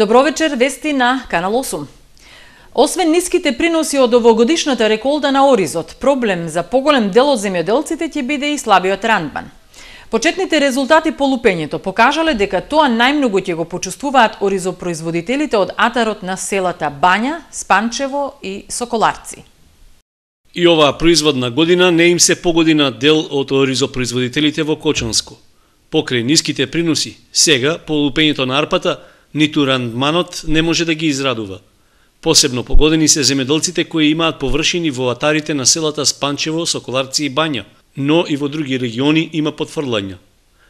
Добро вечер, вести на Канал 8. Освен ниските приноси од овогодишната реколта на оризот, проблем за поголем дел од земјоделците ќе биде и слабиот рандман. Почетните резултати по лупењето покажале дека тоа најмногу ќе го почувствуваат оризопроизводителите од атарот на селата Бања, Спанчево и Соколарци. И оваа производна година не им се погоди на дел од оризопроизводителите во Кочанско. Покрај ниските приноси, сега по лупењето на арпата, ниту рандманот не може да ги израдува. Посебно погодени се земјоделците кои имаат површини во атарите на селата Спанчево, Соколарци и Бања, но и во други региони има потфрлања.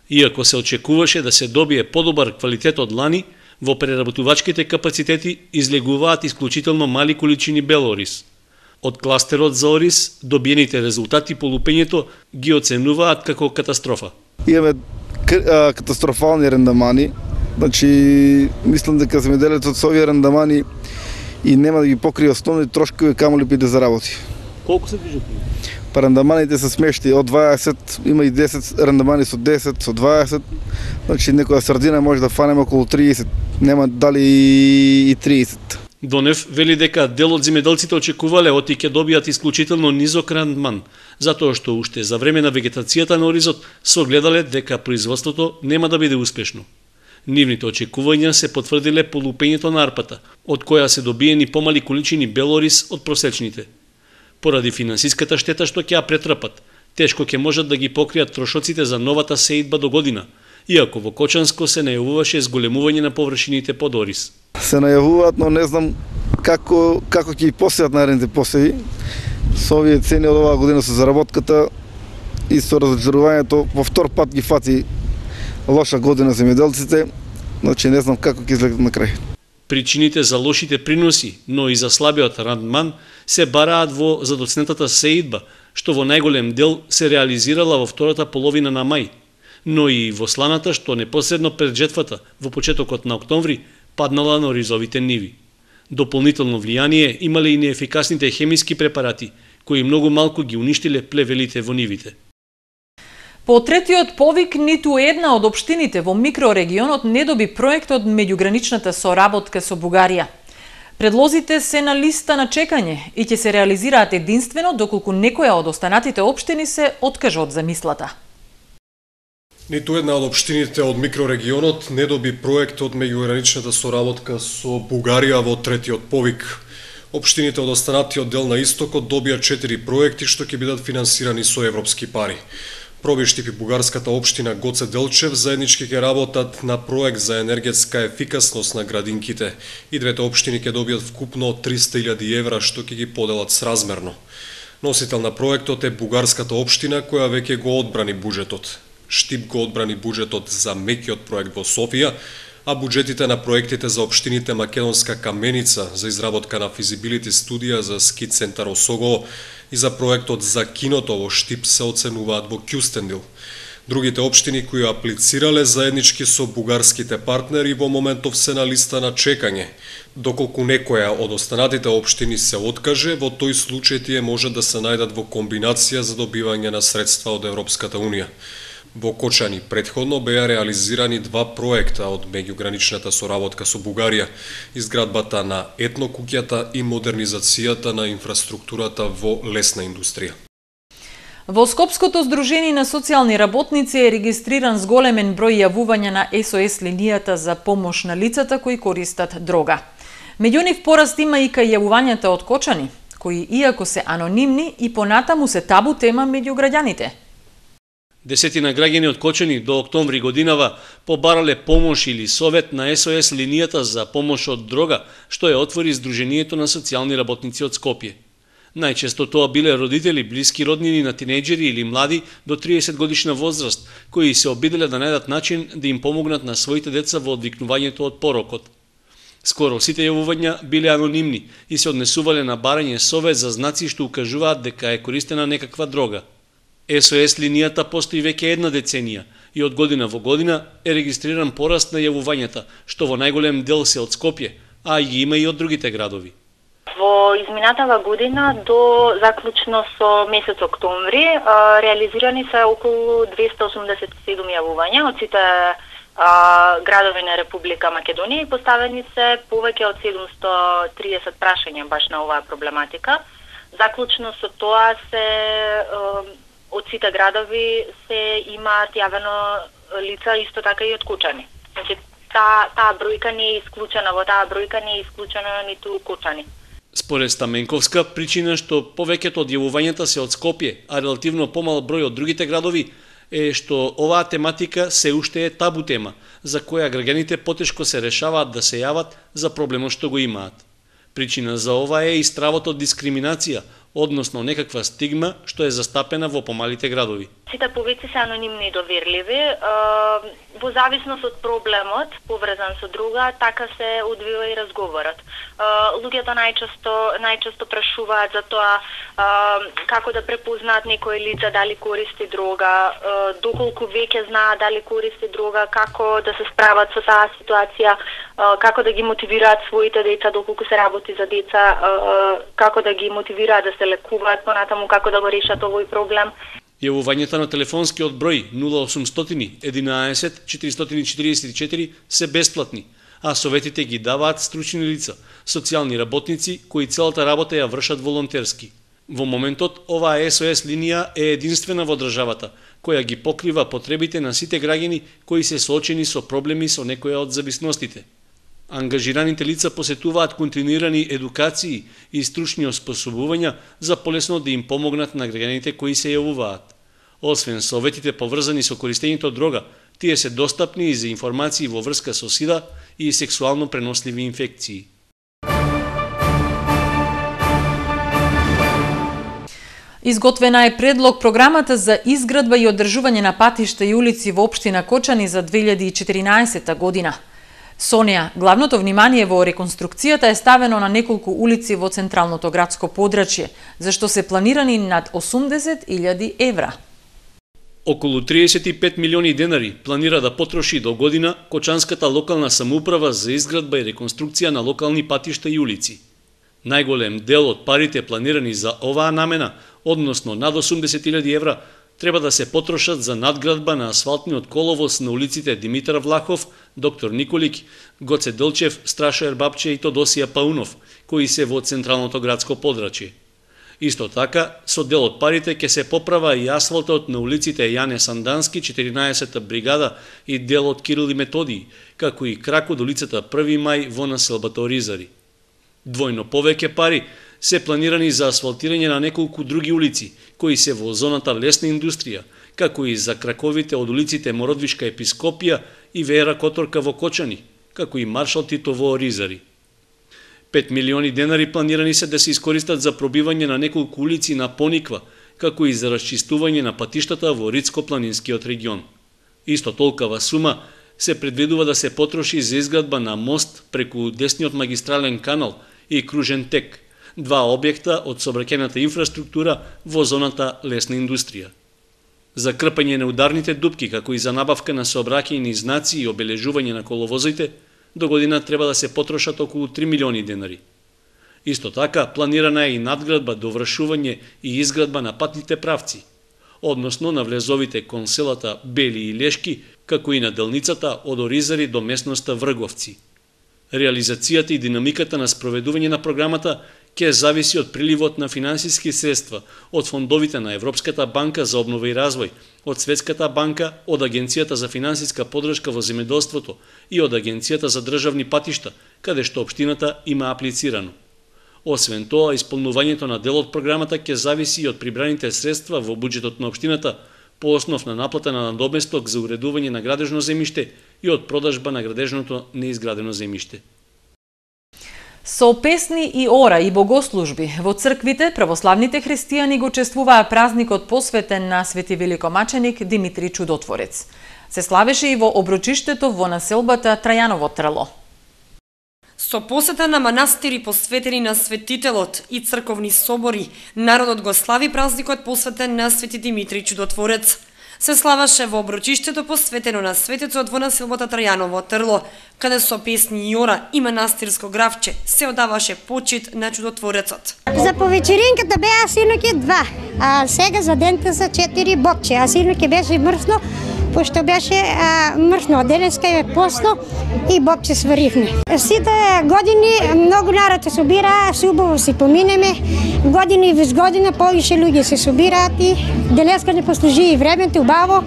Иако се очекуваше да се добие подобар квалитет од лани, во преработувачките капацитети излегуваат исклучително мали количини бел ориз. Од кластерот за ориз, добиените резултати по лупењето ги оценуваат како катастрофа. Имаме катастрофални рендамани. Значи, мислам дека земјоделецот со овие рендамани и нема да ги покрие основни трошкови, камо ли да заработи. Колку се движат? Па рендаманите се смешти од 20, има и 10 рендамани со 10, со 20. Значи, некоја сардина може да фанеме околу 30, нема дали и 30. Донев вели дека дел од земјоделците очекувале оти ќе добијат исклучително низок рандман, затоа што уште за време на вегетацијата на оризот согледале дека производството нема да биде успешно. Нивните очекувања се потврдиле по лупењето на арпата, од која се добиени помали количини бел ориз од просечните. Поради финансиската штета што ќе ја претрпат, тешко ќе можат да ги покријат трошоците за новата сеидба до година, иако во Кочанско се најавуваше зголемување на површините под ориз. Се најавуваат, но не знам како ќе ги посеат наредните посеви. Со овие цени од оваа година со заработката и со разочарувањето, во втор пат ги фати лоша година земјоделците, значи не знам како ќе излегат на крај. Причините за лошите приноси, но и за слабиот рандман се бараат во задоцнетата сеидба, што во најголем дел се реализирала во втората половина на мај, но и во сланата што непосредно пред жетвата, во почетокот на октомври, паднала на оризовите ниви. Дополнително влијание имале и неефикасните хемиски препарати, кои многу малку ги уништиле плевелите во нивите. По третиот повик, ниту една од општините во микрорегионот не доби проект од меѓуграничната соработка со Бугарија. Предлозите се на листа на чекање и ќе се реализираат единствено доколку некоја од останатите општини се откаже од замислата. Ниту една од општините од микрорегионот не доби проект од меѓуграничната соработка со Бугарија во третиот повик. Општините од останатиот дел на истокот добија 4 проекти што ќе бидат финансирани со европски пари. Пробиштип и бугарската општина Гоце Делчев заеднички ќе работат на проект за енергетска ефикасност на градинките и двете општини ќе добијат вкупно 300.000 евра што ќе ги поделат сразмерно. Носител на проектот е бугарската општина која веќе го одбрани буџетот. Штип го одбрани буџетот за меќиот проект во Софија, а буџетите на проектите за општините Македонска Каменица за изработка на физибилити студија за ски центар Осогово и за проектот за киното во Штип се оценуваат во Кјустендил. Другите општини кои аплицирале заеднички со бугарските партнери во моментов се на листа на чекање. Доколку некоја од останатите општини се откаже, во тој случај тие можат да се најдат во комбинација за добивање на средства од Европската Унија. Во Кочани претходно беа реализирани 2 проекта од меѓуграничната соработка со Бугарија, изградбата на етнокуќата и модернизацијата на инфраструктурата во лесна индустрија. Во Скопското здружение на социјални работници е регистриран зголемен број јавувања на СОС линијата за помош на лицата кои користат дрога. Меѓу нив пораст има и кај јавувањата од Кочани, кои иако се анонимни и понатаму се табу тема меѓу граѓаните. Десетина граѓани од Кочани до октомври годинава побарале помош или совет на СОС линијата за помош од дрога, што ја отвори Здруженијето на социјални работници од Скопје. Најчесто тоа биле родители, блиски роднини на тинејџери или млади до 30 годишна возраст, кои се обиделе да најдат начин да им помогнат на своите деца во одвикнувањето од порокот. Скоро сите јавувања биле анонимни и се однесувале на барање совет за знаци што укажуваат дека е користена некаква дрога. СОС линијата постои веќе една деценија и од година во година е регистриран пораст на јавувањата, што во најголем дел се од Скопје, а ги има и од другите градови. Во изминатава година до заклучно со месец октомври реализирани се околу 287 јавувања од сите градови на Република Македонија и поставени се повеќе од 730 прашања баш на оваа проблематика. Заклучно со тоа се од сите градови се имаат јавено лица исто така и од кучани. Значи таа бројка не е исклучена, во таа бројка не е исклучена ниту кучани. Според Стаменковска, причина што повеќето од јавувањата се од Скопје, а релативно помал број од другите градови, е што оваа тематика се уште е табу тема, за која граѓаните потешко се решаваат да се јават за проблемот што го имаат. Причина за ова е и стравот од дискриминација, односно некаква стигма што е застапена во помалите градови. Сите повици се анонимни и доверливи, во зависност од проблемот поврзан со друга, така се одвива и разговорот. Луѓето најчесто прашуваат за тоа како да препознаат некој лице дали користи дрога, доколку веќе знаат дали користи дрога, како да се справат со таа ситуација, како да ги мотивираат своите деца доколку се работи за деца, како да ги мотивираат да се лекуваат понатаму, како да го решат овој проблем. Јавувањата на телефонскиот број 0800 11 444 се бесплатни, а советите ги даваат стручни лица, социјални работници кои целата работа ја вршат волонтерски. Во моментот, оваа SOS линија е единствена во државата, која ги покрива потребите на сите граѓани кои се соочени со проблеми со некоја од зависностите. Ангажираните лица посетуваат континуирани едукации и стручни оспособувања за полесно да им помогнат на граѓаните кои се јавуваат. Освен советите поврзани со користењето од дрога, тие се достапни и за информации во врска со сида и сексуално преносливи инфекции. Изготвена е предлог програмата за изградба и одржување на патишта и улици во општина Кочани за 2014 година. Со неа, главното внимание во реконструкцијата е ставено на неколку улици во централното градско подрачје, зашто се планирани над 80.000 евра. Околу 35 милиони денари планира да потроши до година Кочанската локална самоуправа за изградба и реконструкција на локални патишта и улици. Најголем дел од парите планирани за оваа намена, односно над 80.000 евра, треба да се потрошат за надградба на асфалтниот коловоз на улиците Димитар Влахов, Доктор Николик, Гоце Делчев, Страшо Ербапче и Тодосија Паунов, кои се во централното градско подрачје. Исто така, со дел од парите ќе се поправа и асфалтот на улиците Јане Сандански, 14-та бригада и дел од Кирил и Методиј, како и крак од улицата 1 мај во населбата Оризари. Двојно повеќе пари се планирани за асфалтирање на неколку други улици, кои се во зоната лесна индустрија, како и за краковите од улиците Мородвишка Епископија и Вера Которка во Кочани, како и Маршал Тито во Оризари. 5 милиони денари планирани се да се искористат за пробивање на неколку улици на Пониква, како и за расчистување на патиштата во Рицко-планинскиот регион. Исто толкова сума се предвидува да се потроши за изградба на мост преку десниот магистрален канал и кружен тек, два објекта од сообраќајната инфраструктура во зоната лесна индустрија. За крпање на ударните дупки, како и за набавка на сообраќајни знаци и обележување на коловозите, до година треба да се потрошат околу 3 милиони денари. Исто така, планирана е и надградба, довршување и изградба на патните правци, односно на влезовите кон селата Бели и Лешки, како и на делницата од Оризари до местноста Врговци. Реализацијата и динамиката на спроведување на програмата ќе зависи од приливот на финансиски средства од фондовите на Европската банка за обнова и развој, од Светската банка, од Агенцијата за финансиска поддршка во земјоделството и од Агенцијата за државни патишта, каде што општината има аплицирано. Освен тоа, исполнувањето на дел од програмата ќе зависи и од прибраните средства во буџетот на општината по основ на наплата на надоместок за уредување на градежно земјиште и од продажба на градежното неизградено земјиште. Со песни и ора и богослужби во црквите православните христијани го чествуваа празникот посветен на Свети великомаченик Димитри Чудотворец. Се славеше и во оброчиштето во населбата Трајаново Трело. Со посета на манастири посветени на светителот и црковни собори, народот го слави празникот посветен на Свети Димитри Чудотворец. Се славаше во оброчиштето посветено на светецот во населбата Трајаново Трло, каде со песни и ора и манастирско гравче се одаваше почит на Чудотворецот. За повечеринката беа синоќе 2, а сега за дента се 4 бокче, а синоќе беше мрсно пошто беше мршно, денеска е посно и Боб се сваривме. Сите години многу народ се собира, се убаво си поминеме, години вез година повише луѓе се собираат и денеска не послужи и времето убаво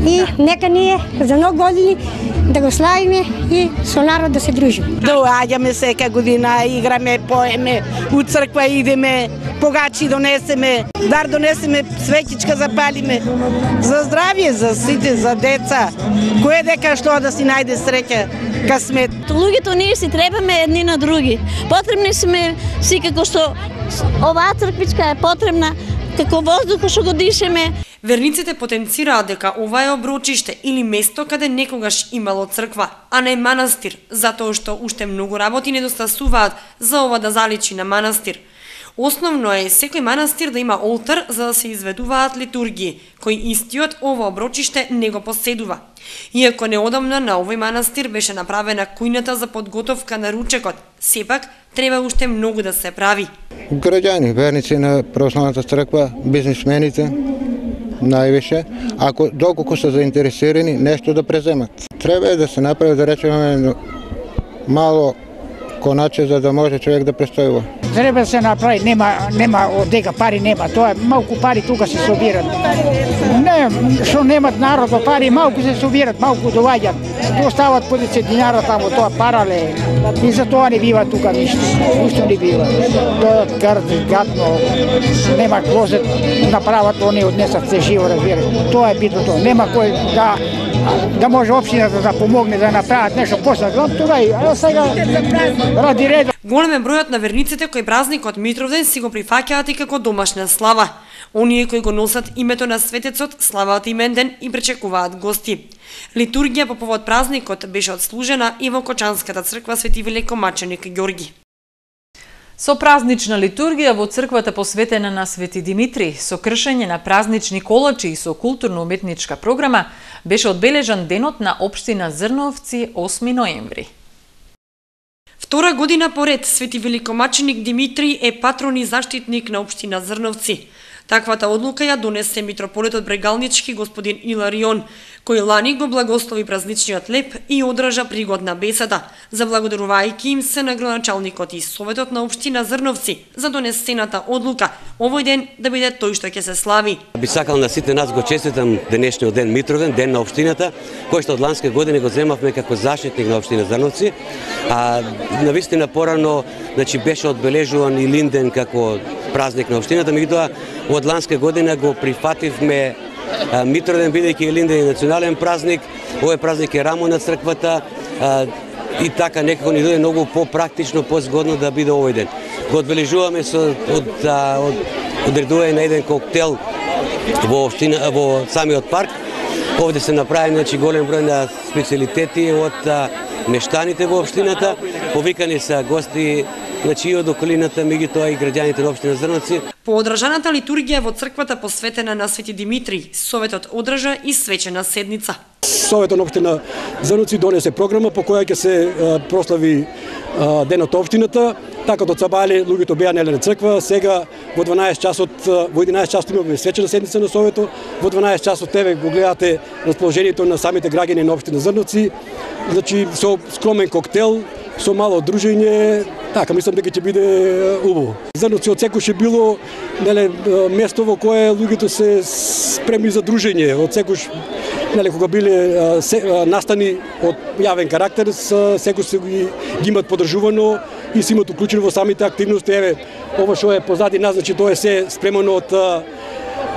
и нека ние за многу години да го славиме и со народ да се дружиме. Доаѓаме сека година, играме, поеме, у црква идеме, погачи донесеме, дар донесеме, свеќичка запалиме. За здравје, за сите, за деца. Кој дека што да си најде среќа, касмет. Луѓето ние си требаме едни на други. Потребни сме си како што оваа црквичка е потребна, како воздух што го дишеме. Верниците потенцираат дека ова е оброчиште или место каде некогаш имало црква, а не манастир, затоа што уште многу работи недостасуваат за ова да заличи на манастир. Основно е секој манастир да има олтар за да се изведуваат литургии, кој истиот ова оброчиште не го поседува. Иако неодамна на овој манастир беше направена кујната за подготовка на ручекот, сепак треба уште многу да се прави. Граѓани, верници на православната црква, бизнисмените, највише, доколку се заинтересирани нешто да преземат. Треба да се направи, да речеме, мало коначе за да може човек да престојува. Треба да се направи, нема од дека пари нема, тоа е малку пари тука се собират. Не, што немат народо пари, малку се собират, малку доаѓат. Тоа стават по 10 динара таму, тоа парале. И за тоа не бива тука ништо. Ништо не бива. Тоа гадно, нема клозет, направат они однесат се живо, разбира. Тоа е битното. Нема кој да може општината да помогне да направат нешто после. Тоа е сега ради ред. Голем е бројот на верниците кои празникот Митровден си го прифаќаат и како домашна слава. Оние кои го носат името на светецот славаат именден и пречекуваат гости. Литургија по повод празникот беше отслужена и во Кочанската црква Свети Великомаченик Ѓорги. Со празнична литургија во црквата посветена на Свети Димитри, со кршење на празнични колачи и со културно-уметничка програма, беше одбележан денот на општина Зрновци 8 ноември. Втора година поред Свети Великомаченик Димитри е патрон и заштитник на општина Зрновци. Таквата одлука ја донесе митрополитот Брегалнички господин Иларион, кој лани го благослови празничниот леп и одржа пригодна беседа, заблагодарувајќи им се на градоначалникот и советот на општина Зрновци за донесената одлука овој ден да биде тој што ќе се слави. Би сакал на сите нас го честитам денешниот ден Митровден, ден на општината, кој што од ланска година го земавме како заштитник на општина Зрновци, а навистина порано беше одбележуван и Линден како празник на општината, меѓутоа од ланска година го прифативме Митровден, бидејќи Линден е национален празник, овој празник е рамо на црквата и така некако ни дојде многу попрактично, позгодно да биде овој ден. Го одбележуваме со одредување на еден коктел во самиот парк. Овде се направи голем број на специјалитети од мештаните во општината, повикани се гости и од околината, меѓутоа и граѓаните на општина Зрновци. По одржаната литургија во црквата посветена на Свети Димитри, советот одржа и свечена седница. Советот на општина Зрновци донесе програма по која ќе се прослави денот општината. Така од сабајле луѓето беа неле на црква, сега во 12 часот, во 11 часот имаме свечена седница на советот, во 12 часот еве го гледате расположението на самите граѓани на општина Зрновци, со скромен коктел, со мало дружење, така мислам дека ќе биде убаво. Зрновци од секој ше било место во кое луѓето се спремни за дружење, од секој кога биле настани од јавен карактер, секој се ги имат подржувано и се имат уклучено во самите активности. Еве, ова што е позади нас, тоа е се спремано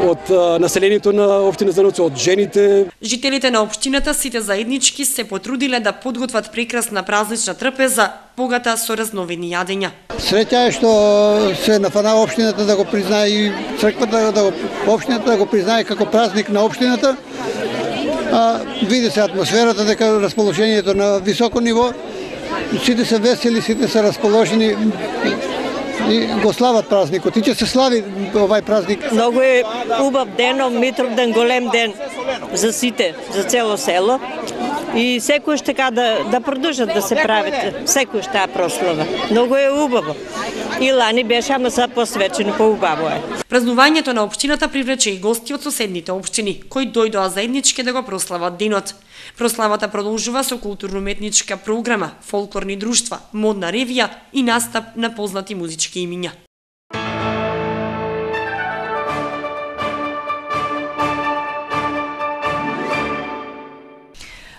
од населението на општина Зрновци, од жените. Жителите на општината сите заеднички се потрудиле да подготват прекрасна празнична трпеза, богата со разновидни јадења. Среќа е што се нафана општината да го признае и црквата, општината да го признае како празник на општината. Види се атмосферата, дека расположението на високо ниво, сите се весели, сите се расположени и го слават празникот. И ќе се слави овај празник. Многу е убав ден, Митровден, голем ден за сите, за цело село. И секој така да продолжат да се прават, секој таа прослава. Многу е убаво. И лани беше, ама са посвечено, поубаво е. Празнувањето на општината привлече и гости од соседните општини, кои дојдоа заеднички да го прослават денот. Прославата продолжува со културно-уметничка програма, фолклорни друштва, модна ревија и настап на познати музички имиња.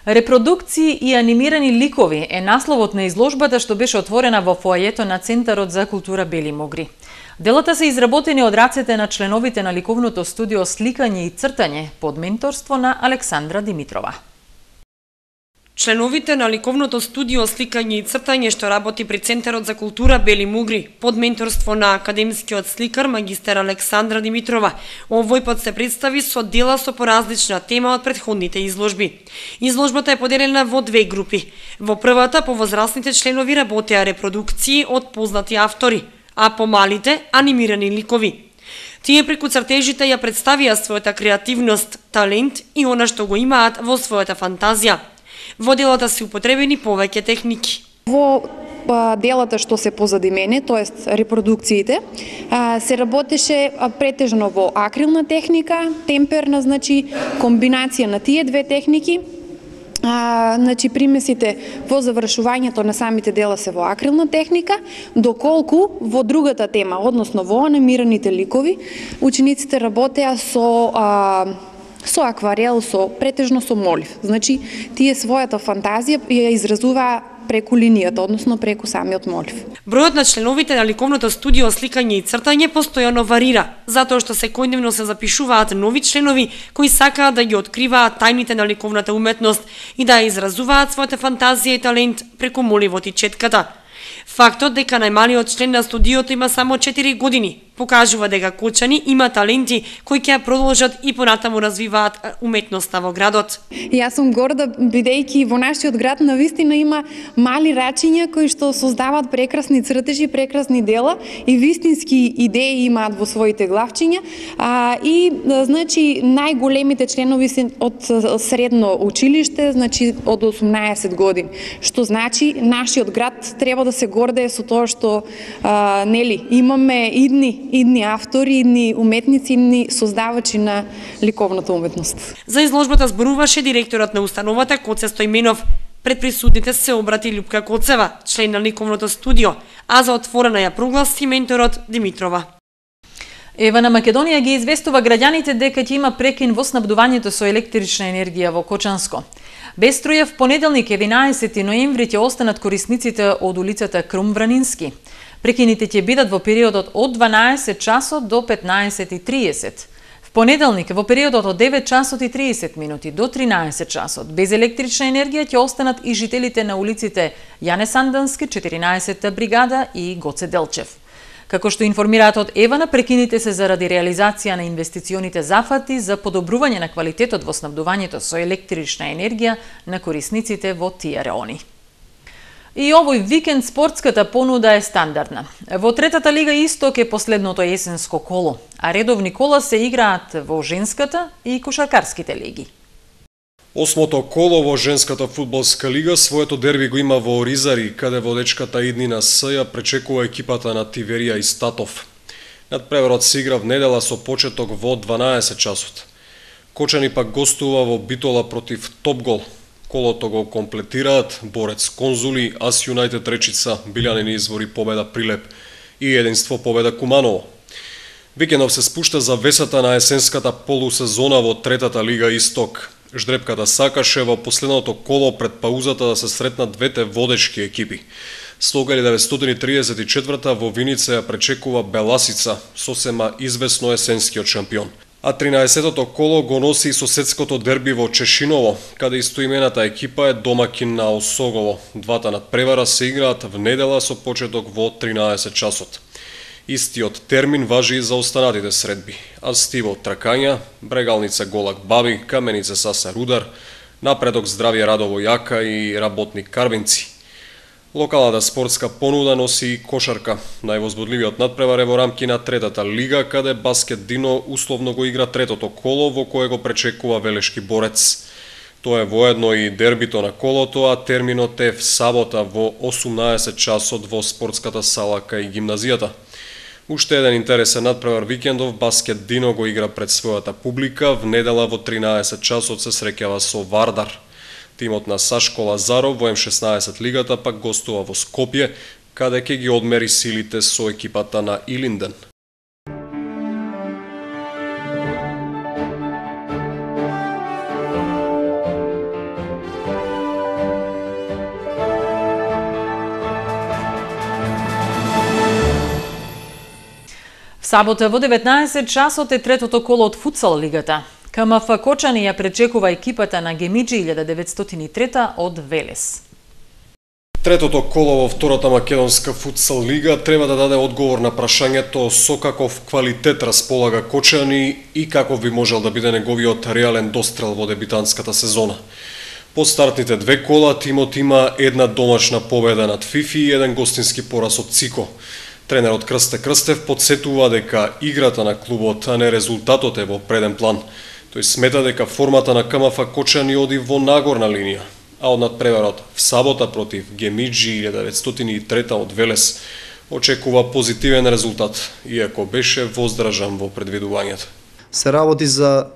Репродукции и анимирани ликови е насловот на изложбата што беше отворена во фоајето на Центарот за култура Бели Могри. Делата се изработени од рацете на членовите на ликовното студио Сликање и цртање под менторство на Александра Димитрова. Членовите на ликовното студио Сликање и цртање што работи при Центарот за култура Бели Могри под менторство на академскиот сликар магистер Александра Димитрова овој пат се представи со дела со поразлична тема од претходните изложби. Изложбата е поделена во две групи. Во првата по возрастните членови работеа репродукции од познати автори, а по малите анимирани ликови. Тие преку цртежите ја представија својата креативност, талент и она што го имаат во својата фантазија. Во делата се употребени повеќе техники. Во делата што се позади мене, тоест репродукциите, се работеше претежно во акрилна техника, темперна, значи комбинација на тие две техники. Значи примесите во завршувањето на самите дела се во акрилна техника, доколку во другата тема, односно во анимираните ликови, учениците работеа со акварел, претежно со молив. Значи, тие својата фантазија ја изразуваа преку линијата, односно преку самиот молив. Бројот на членовите на ликовното студио Сликање и цртање постојано варира, затоа што секојдневно се запишуваат нови членови кои сакаат да ги откриваат тајните на ликовната уметност и да ја изразуваат својата фантазија и талент преку моливот и четката. Фактот дека најмалиот член на студиото има само 4 години покажува дека Кочани има таленти кои ќе продолжат и понатаму развиваат уметноста во градот. Јас сум горда бидејќи во нашиот град навистина има мали рачиња кои што создаваат прекрасни цртежи, прекрасни дела и вистински идеи имаат во своите главчиња, и значи најголемите членови се од средно училиште, значи од 18 години, што значи нашиот град треба да се гордее со тоа што нели имаме идни автори, идни уметници, идни создавачи на ликовната уметност. За изложбата зборуваше директорот на установата Коце Стојменов. Пред присутните се обрати Љупка Коцева, член на ликовното студио, а за отворена ја прогласи менторот Димитрова. Ева на Македонија ги известува граѓаните дека ќе има прекин во снабдувањето со електрична енергија во Кочанско. Без струја в понеделник 11 ноември ќе останат корисниците од улицата Крум Вранински. Прекините ќе бидат во периодот од 12 часот до 15:30. В понеделник во периодот од 9 часот и 30 минути до 13 часот без електрична енергија ќе останат и жителите на улиците Јане Сандански, 14-та бригада и Гоце Делчев. Како што информираат од Евана, прекините се заради реализација на инвестиционите зафати за подобрување на квалитетот во снабдувањето со електрична енергија на корисниците во тие реони. И овој викенд спортската понуда е стандардна. Во третата лига Исток е последното есенско коло, а редовни кола се играат во женската и кошаркарските лиги. Осмото коло во женската фудбалска лига своето дерби го има во Оризари, каде водечката иднина С ја пречекува екипата на Тиверија и Статов. Надпреварот се игра в недела со почеток во 12 часот. Кочани пак гостува во Битола против Топгол. Колото го комплетираат Борец Конзули, Ас Юнајтед Речица, Билјанини Извори победа Прилеп и Единство победа Куманово. Викендов се спушта за весата на есенската полусезона во третата лига Исток. Ждрепката сакаше во последното коло пред паузата да се сретнат двете водечки екипи. Слога 1934 во Виница ја пречекува Беласица, сосема известно есенскиот шампион. А 13-тото коло го носи и соседското дерби во Чешиново, каде истоимената екипа е домакин на Осогово. Двата надпревара се играат в недела со почеток во 13 часот. Истиот термин важи и за останатите средби. Астиво Тракања, Брегалница Голак Баби, Каменица Саса Рудар, Напредок Здравје Радово Јака и Работник Карвинци. Локалната спортска понуда носи и кошарка. Највозбудливиот надпревар е во рамки на третата лига, каде Баскет Дино условно го игра третото коло, во кое го пречекува Велешки Борец. Тоа е воедно и дербито на колото, а терминот е в сабота во 18 часот во спортската сала кај гимназијата. Уште еден интересен надпревар викендов, Баскет Дино го игра пред својата публика, в недела во 13 часот се среќава со Вардар. Тимот на Сашко Лазаров во М16 лигата пак гостува во Скопје, каде ќе ги одмери силите со екипата на Илинден. В сабота во 19 часот е третото коло од футсал лигата. КМФ Кочани ја пречекува екипата на Гемиджи 1903 од Велес. Третото коло во втората македонска футсал лига треба да даде одговор на прашањето со каков квалитет располага Кочани и каков би можел да биде неговиот реален дострел во дебитантската сезона. По стартните две кола тимот има една домашна победа над Фифи и еден гостински пораз од Цико. Тренерот Крсте Крстев подсетува дека играта на клубот, а не резултатот е во преден план. Тој смета дека формата на КМФ Кочани оди во нагорна линија, а од надпреварот в сабота против Гемиджи 1903 од Велес очекува позитивен резултат, иако беше воздржан во предвидувањето. Се работи за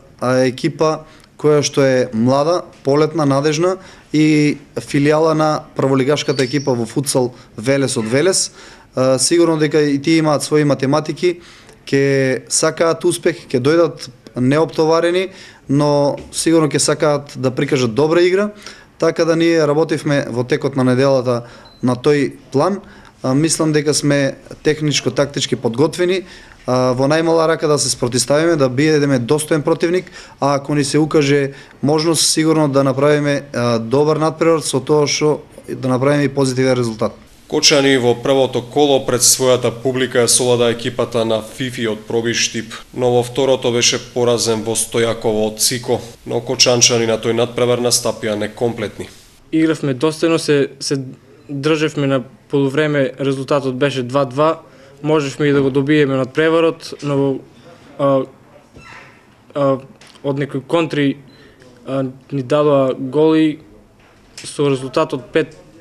екипа која што е млада, полетна, надежна и филијала на прволигашката екипа во футсал Велес од Велес. Сигурно дека и тие имаат своји математики, ќе сакаат успех, ќе дојдат неоптоварени, но сигурно ќе сакаат да прикажат добра игра, така да ние работивме во текот на неделата на тој план. Мислам дека сме техничко-тактички подготвени, во најмала рака да се спротиставиме, да бидеме достоен противник, а ако ни се укаже можност сигурно да направиме добар надпревар со тоа што да направиме и позитивен резултат. Кочани во првото коло пред својата публика е солада екипата на Фифи од Пробиштип, но во второто беше поразен во Стојаково од Цико, но кочанчани на тој надпревар настапија некомплетни. Игравме достојно, се држевме на полувреме, резултатот беше 2-2, можевме и да го добиеме надпреварот, но од некои контри ни дадоа голи со резултатот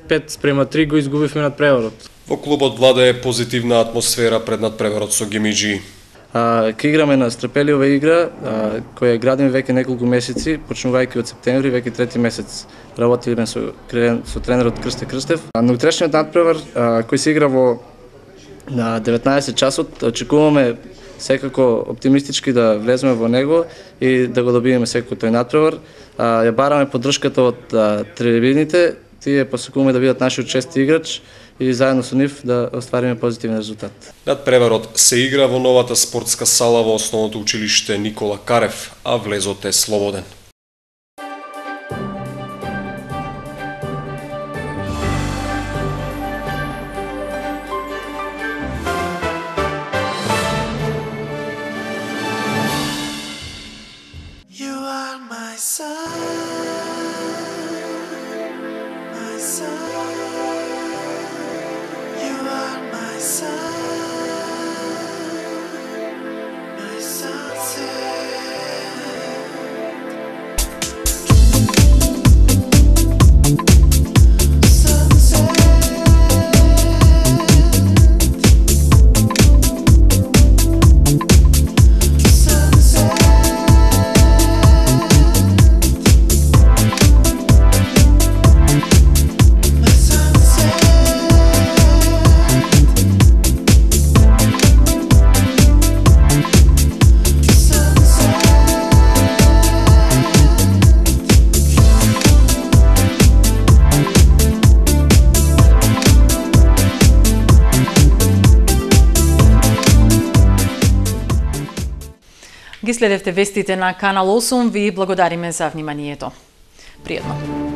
5-3 го изгубивме надпреварот. Во клубот владее позитивна атмосфера пред надпреварот со Гемиджи. Ке играме на стрпелива игра, која градиме веќе неколку месеци, почнувајќи од септември, веќе трети месец работиме со тренерот Крсте Крстев. На утрешниот надпревар кој се игра во на 19 часот, очекуваме секако оптимистички да влеземе во него и да го добиеме секако тој надпревар. Ја бараме поддршката од трибините, тие посакуваме да бидат нашиот чести играч и заедно со нив да оствариме позитивен резултат. Надпреварот се игра во новата спортска сала во основното училиште Никола Карев, а влезот е слободен. Ги следевте вестите на Канал 8, ви благодариме за вниманието. Пријатно.